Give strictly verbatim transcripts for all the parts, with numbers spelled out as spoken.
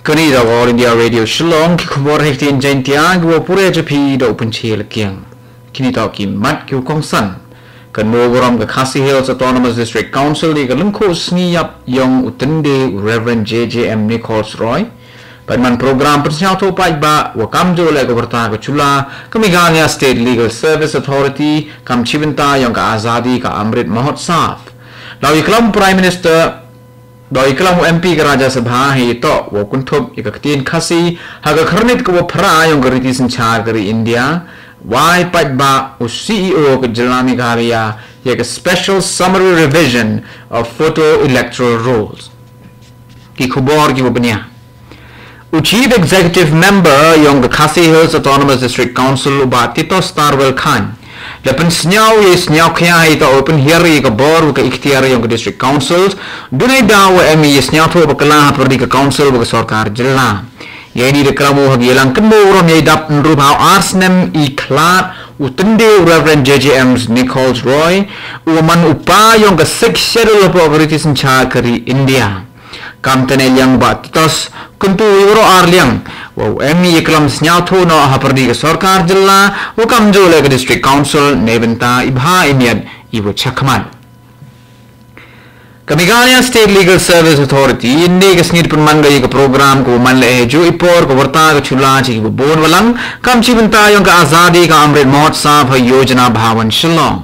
Kani da All India Radio Shillong, ki khubor ha ktien Jaiñtia, ki wa pure japi da u Pynche Lakiang. Kini toh ki mat ki u kongsan. Kan mo burom ka Khasi Hills Autonomous District Council di ka lyngkhuh sngi ïap yong u tynde u Reverend J J M Nichols Roy. Pat man program pynsñiawthuh paidbah, wa kamjooh leh ka warta ka chula, ka Meghalaya State Legal Service Authority, kam chibynta yong ka Azadi ka Amrit Mahotsav. Daw i klam Prime Minister, daw i klam u M P ka Rajya Sabha hei toh, wa kynthup i ka ktien Khasi, ha ka khyrnit ka wa phra yong ka riti synchar ka ri India, wai paidbah u C E O ka jylla Meghalaya, ya ka Special Summary Revision of Photo Electoral Rules. Ki khubor ki wa bniah. U Chief Executive Member yong ka Khasi Hills Autonomous District Council u Bah Titos Tarwel Chyne. Da pynsñiaw ya i sñiawkhia hei ta u pynhiar ya ka bor wa ka iktiar yong ka District Council. Dunai da wa em ya i sñiawthuh bakla ha pyrdi ka Council wa ka sorkar jylla. Ya ini da klam u ha ka yalang kynmo burom ya i dap nrub hau ar snem i khlad u tynde u Reverend J J M Nichols Roy. U man u pa yong ka Sixth Schedule hapoh ka riti synchar ka ri India. Kam tene liang Bah Titos, kyntu i waro ar liang, wa u em i klam sñiawthuh noh ha pyrdi ka sorkar jylla, wa kamjooh leh ka District Council, neibynta i bha i miat i wa chakhmat. Ka Meghalaya State Legal Service Authority, ynne ka sngi da pynman ka ya ka program ka wa man leh hei jooh i por ka warta ka chula cha ki wa bun wa lang, kam chibynta yong ka Azadi ka Amrit Mahotsav ha Yojana Bhawan Shillong.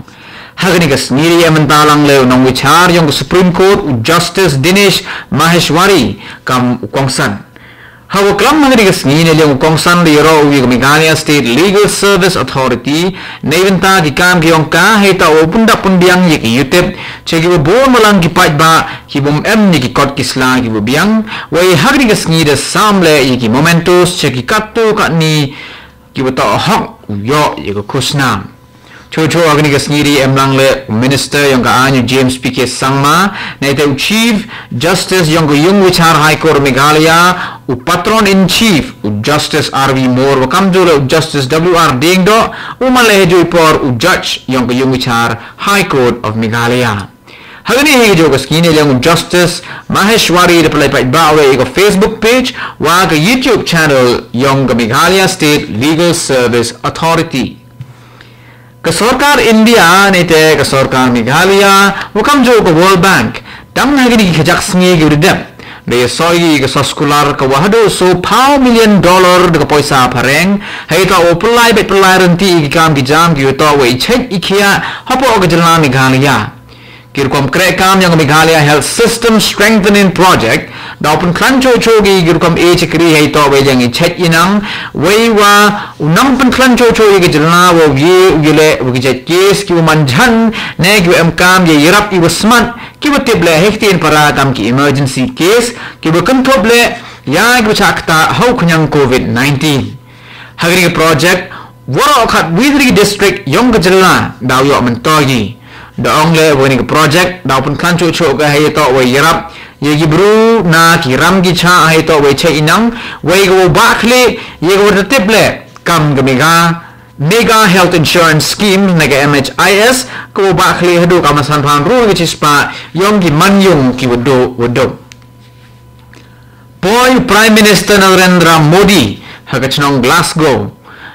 Ha kani ka sngi da ïa mynta lang leh u nongbichar yong ka Supreme Court u Justice Dinesh Maheshwari kam u kongsan. Ha wa klam ha kani ka sngi ne liang u kongsan da ïaroh u ya ka Meghalaya State Legal Service Authority, neibynta ki kam ki yong ka hei ta u pyndap pynbiang ya ki yutip cha ki wa bun wa lang ki paidbah ki bym em ya ki kot ki sla ki wa biang, wei ha kani ka sngi da sam leh ya ki mementos cha ki katto katne ki wa toh hok u yoh ya ka khusnam. Choh choh ha kani ka sngi da em lang leh u Minister yong ka aiñ u James P K Sangma, neite u Chief Justice yong ka Yung Bichar High Court Meghalaya, u Patron in Chief u Justice R V Mor, wa kamjooh leh u Justice W R Diengdoh, u man leh hei jooh i por u Judge yong ka Yung Bichar High Court of Meghalaya. Ha kani hei jooh ka sngi ne liang u Justice Maheshwari da pynlait paidbah wa ya ka Facebook page wa ka YouTube channel yong ka Meghalaya State Legal Service Authority. Ka sorkar India neite ka sorkar Meghalaya wa kamjooh ka World Bank, tang ha kini ki khajak sngi ki wa dep, da ïa soi ya ka soskular ka wa haduh soo phaw million dollar da ka poisa phareng, hei ta u pynlai beit pynlai rynti ya ki kam ki jam ki wa toh wa i chait i khiah hapoh ka jylla Meghalaya. Ki rukom kreh kam yong ka Meghalaya Health System Strengthening Project, daw pynkhlaiñ choh choh ki ki rukom e chakri hei toh wei liang i chait i nang, wei wa u nang pynkhlaiñ choh choh ya ka jylla wa u ye u ye leh wa ki jait case ki wa man jhan, ne ki wa em kam ya i rap i wa smat, ki wa tip leh hei ktien para kam ki emergency case, ki wa kynthup leh ya ki wa chah ktah ha u khñiang covid nineteen. Ha kani ka project, waroh khat wi three district yong ka jylla, daw yoh myntoi ki. Da ong leh wa kani ka project, daw pynkhlaiñ choh choh ka hei toh wei yarap ya ki bru na ki ram ki chah hei toh wei chait i nang, wei ka wa bah khlieh ya ka wa da tip leh kam ka Mega, Mega Health Insurance Scheme ne ka M H I S, ka wa bah khlieh haduh ka masan phan ru ka chispah yong ki manyung ki wa duh wa duh. Poi Prime Minister Narendra Modi ha ka chnong Glasgow.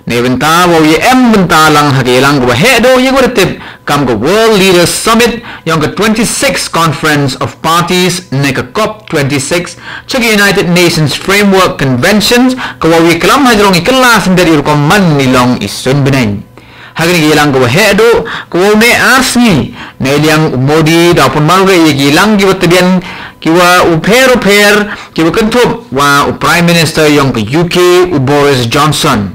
Neibynta wa u ya em bynta lang ha ka yalang ka wa heh duh ya ka wa da tip kam ka World Leaders Summit yong ka twenty-sixth Conference of Parties ne ka COP twenty-six cha ka United Nations Framework Conventions, ka wa u ya klam hajrong i kylla syndet i rukom man i long i sun bneng. Ha kani ka yalang ka wa heh duh, ka wa u neh ar sngi, ne liang u Modi daw pynmal ka ya ki yalang ki wa tbian, ki wa u pher u pher, ki wa kynthup wa u Prime Minister yong ka U K u Boris Johnson.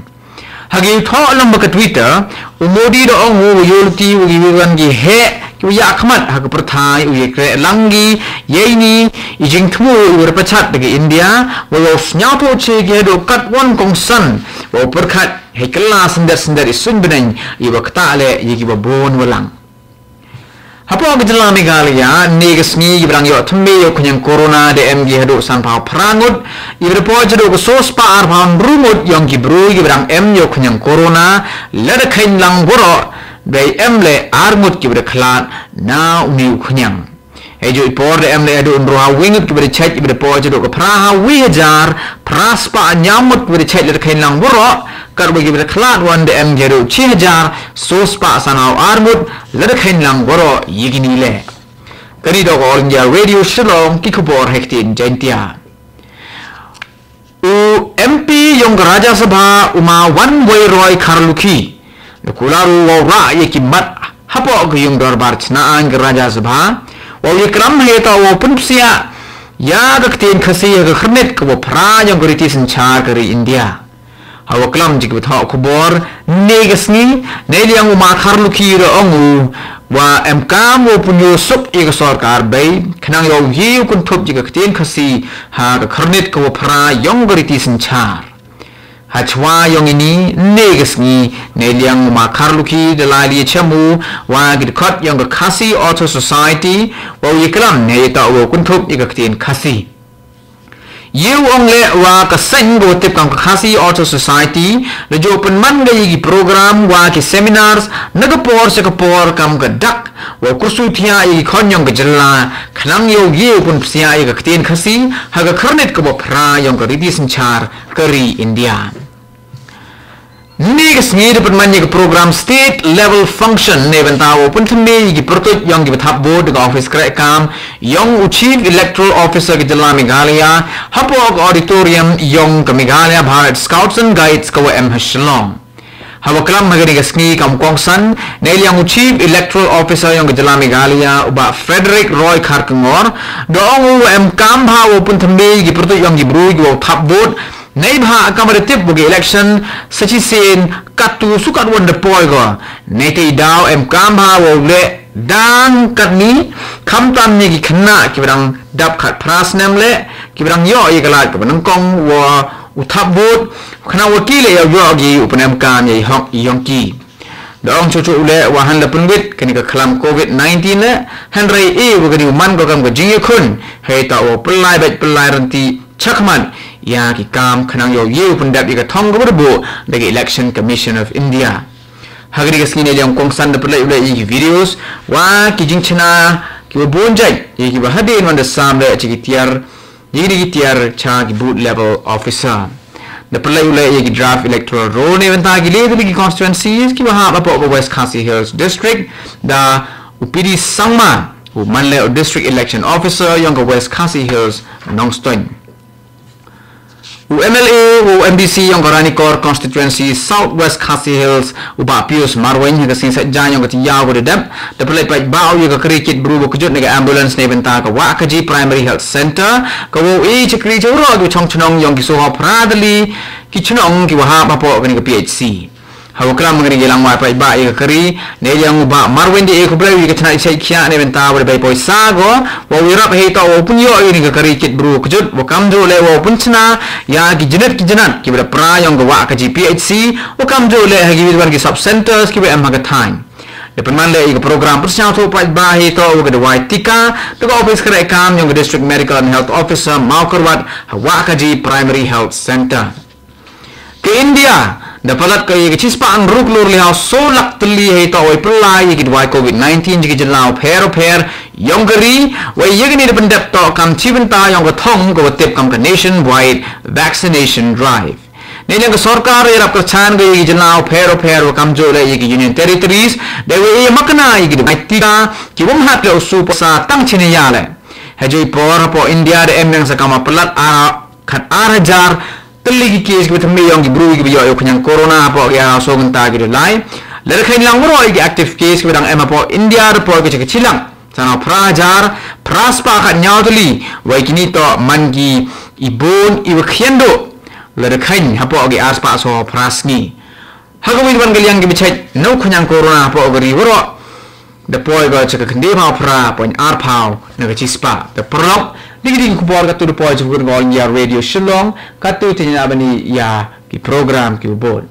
Ha ki u thoh lang ba ka Twitter, u Modi da ong u wa yoh luti wa ki wa ki heh, ki wa ya khmat ha ka pyrthai u ya kreh lang ki, ya ini i jingthmu u wa pachat da ka India, wa u sñiawthuh che ki haduh katwon kongsan, wa u pyrkhat hei kylla syndet syndet i sun bneng i wa ktah leh ya ki wa bun wa lang. Hapoh ka jylla Meghalaya, ne ka sngi ki wa dang yoh thymme ya u khñiang corona da em ki haduh san phaw phra ngut, i wa da poi cha haduh ka soo spah ar phaw ynru ngut yong ki bru ki wa dang em ya u khñiang corona, lada kheiñ lang waroh, da em leh ar ngut ki wa da khlad na uni u khñiang. Hei jooh i por da em da haduh hynriew ha wi ngut kiba da chait, kiba da poi haduh ka phra ha wi hajar phra spah hynñiew ngut kiba da chait lada kheiñ lang waroh, katba kiba da khlad wan da em haduh shi hajar soo spah san haw ar ngut lada kheiñ lang waroh ïa kine leh. Kane toh ka All India Radio Shillong, ki khubor ha ktien Jaiñtia. U M P yong ka Rajya Sabha u ma Wanweiroy Kharlukhi da kular u wow rah ïa ki mat hapoh ka yung dorbar chna aiñ ka Rajya Sabha wow ïaklam hei toh wow pynpsiah ïa ka ktien Khasi ha ka khyrnit kaba phra yong ka riti synshar ka ri India. Hawa klam jong ki pathok khubor ne ka sngi, ne liang u ma Kharlukhi da ong u wa em kam wow pynïoh suk ïa ka sorkar bei khnang yow ïoh kynthup ïa ka ktien Khasi ha ka khyrnit kaba phra yong ka riti synshar. Hachwa yong ini ne ka sngi, ne liang u ma Kharlukhi da lai ïa chem u wa ki dkhot yong ka Khasi Author Society wow ïaklam ne ïa toh wow kynthup ïa ka ktien Khasi. Ïa u ong leh wa ka seng kaba tip kam ka Khasi Author Society da jooh pynman ka ïa ki program wa ki seminars na ka por sha ka por kam ka dak wow kyrsu thiah ïa ki khon yong ka jylla khnang yow ïoh pynpsiah ïa ka ktien Khasi ha ka khyrnit kaba phra yong ka riti synshar ka ri India. Ne ka sngi da pynman ïa ka program state level function ne bynta wow pynthymmai ïa ki pyrtuid yong ki pathap vote da ka office kreh kam yong u Chief Electoral Officer ka jylla Meghalaya hapoh ka auditorium yong ka Meghalaya Bharat Scouts and Guides kaba em ha Shillong. Hawa klam ha kane ka sngi kam u kongsan ne liang u Chief Electoral Officer yong ka jylla Meghalaya u bah Frederick Roy Kharkongor da ong u wa em kam bha wow pynthymmai ïa ki pyrtuid yong ki briew kiba thap vote. Neibhah kam da tip wa ka election sa shisien katto shu katwon da poi ko. Neitei daw em kam bha wow leh dang katni khamtam ïa ki khynnah kiba dang dap khatphra snem leh kiba dang ïoh ïa ka lad kaba nyngkong wow thap vote khnang wa ki leh yow ïoh ki u pynem kam ïa i hok i yong ki. Da ong chuh chuh u leh wa hanla pynwit kane ka khlam covid nineteen leh hynrei e wa kane u man ko kam ka jingïakhun hei toh wow pyllait beit pyllait rynti chakhmat ïa ki kam khnang yow ïoh pyndep ïa ka thong kaba da buh da ka Election Commission of India. Ha kane ka sngi ne liang u kongsan da pynlait u leh ïa ki videos wa ki jingchna kiba bun jait ïa kiba hadien wan da sam leh cha ki tiar ïa ki tiar cha ki booth level officer. Da pynlait u leh ïa ki draft electoral roll ne bynta ki leh tylli ki constituencies kiba hap hapoh ka West Khasi Hills District da u P D Sangma u man leh u District Election Officer yong ka West Khasi Hills Nongstoiñ. U M L A u M D C yong ka Ranikor Constituency South West Khasi Hills u bah Pius Marwein ha ka sngi Saitjaiñ yong ka taïew kaba dep da pynlait paidbah ïa ka kari kit bru ba kjut ne ka ambulance ne bynta ka Wahkaji Primary Health Centre ka wow ai chakri cha waroh ki chong chnong yong ki soo haw phra tylli ki chnong kiba hap hapoh kane ka P H C. Hawa klam kane ka langwai paidbah ïa ka kari ne liang u bah Marwein da ai khublei ïa ka chnat i chait khiah ne bynta wa da bei poisa ko wow ïarap hei toh wow pynïoh ïa kane ka kari kit bru kjut wa kamjooh leh wow pynchna ïa ki jnat ki jnat kiba da phra yong ka Wahkaji P H C wa kamjooh leh ha ki wit wan ki sub centres kiba em ha ka thaiñ. Da pynman leh ïa ka program pynsñiawthooh paidbah hei toh wa ka dawai tika da ka office kreh kam yong ka District Medical and Health Officer Mawkyrwat ha Wahkaji Primary Health Centre. Ka India da palat ka ïa ka chispah hynriew klur leh haw soo lak tylli hei toh wei pynlai ïa ki dawai covid nineteen jong ki jylla pher pher yong ka ri wei ïa kane da pyndep toh kam chi bynta yong ka thong kaba tip kam ka nationwide vaccination drive. Ne liang ka sorkar ïarap kyrchan ka ïa ki jylla pher pher wa kamjooh leh ïa ki union territories da wei ïa makna ïa ki dawai tika ki wym hat leh u shu poisa tang chine ïa leh. Ha jooh i por hapoh India da em biang sa kama palat ar khat ar hajar tylli ki case kiba thymmai yong ki bru kiba ïoh ïa u khñiang corona hapoh ki ar haw soo kynta ki da lai. Lada kheiñ lang waroh ïa ki active case kiba dang em hapoh India da poi ka cha ka chi lak san haw phra hajar phra spah khat hynñiew tylli wei kine toh man ki i bun i wa khian duh lada kheiñ hapoh ki ar spah soo phra sngi. Ha ka wei wan ka liang kiba chait na u khñiang corona hapoh ka ri waroh da poi ka cha ka khyndai phaw phra point ar phaw na ka chispah. Da paralok da ki ding khubor katto da poi cha ka All India Radio Shillong katto te na bani ïa ki program kiba bun.